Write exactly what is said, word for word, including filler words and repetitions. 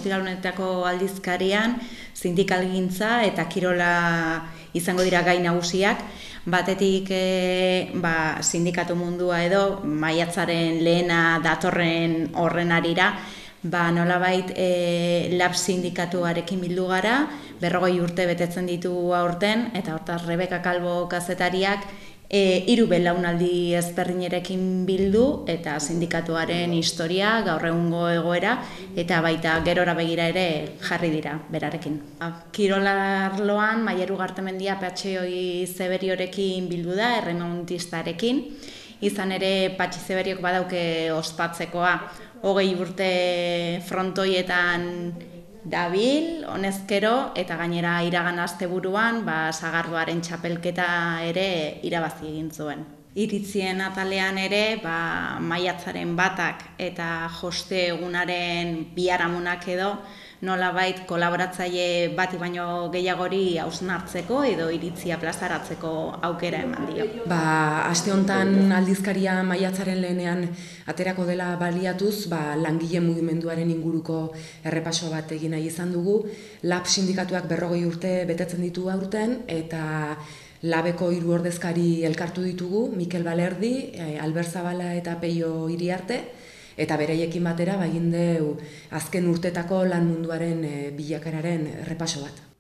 ostiralunetako aldizkarian sindikalgintza eta kirola izango dira gai nagusiak. Batetik e, ba, sindikatu mundua edo maiatzaren lehena datorren horren arira, ba, nolabait e, lab sindikatuarekin bildu gara, berrogei urte betetzen ditu aurten, eta hortaz Rebeka Kalbo kazetariak e, hiru belaunaldi ezberdinerekin bildu, eta sindikatuaren historia, gaur egungo egoera, eta baita gerora begira ere jarri dira berarekin. Kirolarloan Maiaru Gartemendia Patxi Zeberiorekin bildu da, erremontistarekin, izan ere Patxi Zeberiok badauke ospatzekoa, hogei urte frontoietan dabil, honezkero, eta gainera iragan asteburuan ba, sagardoaren txapelketa ere irabazi egin zuen. Iritzien atalean ere, ba, maiatzaren batak eta joste egunaren biharamunak edo, nolabait kolaboratzaile bati baino gehiagori hausnartzeko edo iritzia plazaratzeko aukera eman dio. Ba, aste hontan aldizkaria maiatzaren lehenean aterako dela baliatuz, ba, langile mugimenduaren inguruko errepaso bat egin nahi izan dugu. Lab sindikatuak berrogei urte betetzen ditu aurten, eta Labeko hiru ordezkari elkartu ditugu, Mikel Balerdi, Albert Zabala eta Peio Iriarte, eta beraiekin batera ba egin dugu azken urtetako lan munduaren bilakararen errepaso bat.